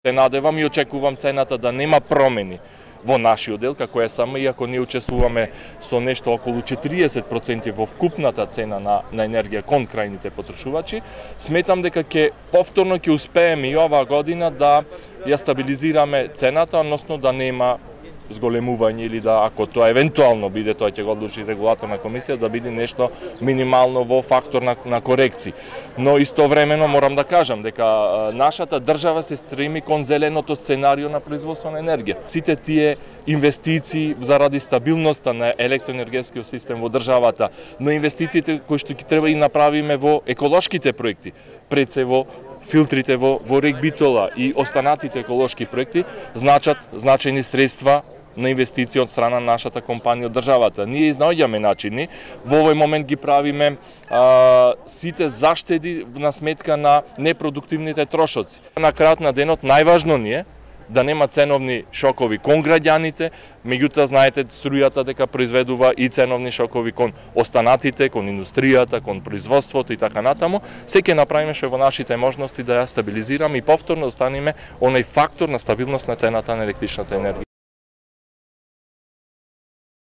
Се надевам и очекувам цената да нема промени во нашиот дел, како СМ, иако ние учествуваме со нешто околу 40% во вкупната цена на енергија кон крајните потрошувачи. Сметам дека повторно ќе успееме и оваа година да ја стабилизираме цената, односно да нема зголемување или да, ако тоа евентуално биде, тоа ќе го одлучи регулаторна комисија, да биде нешто минимално во фактор на корекции. Но истовремено морам да кажам дека нашата држава се стреми кон зеленото сценарио на производство на енергија. Сите тие инвестиции заради стабилноста на електроенергетскиот систем во државата, но инвестициите кои што ќе треба и направиме во еколошките проекти, пред се во филтрите во Регбитола и останатите еколошки проекти, значат значајни средства на инвестиции од страна на нашата компанија од државата. Ние изнаоѓаме начини, во овој момент ги правиме сите заштеди на сметка на непродуктивните трошоци. На крајот на денот најважно ни е да нема ценовни шокови кон граѓаните, меѓутоа знаете струјата дека произведува и ценовни шокови кон останатите, кон индустријата, кон производството и така натаму. Се ќе направиме што во нашите можности да ја стабилизираме и повторно останеме оној фактор на стабилност на цената на електричната енергија.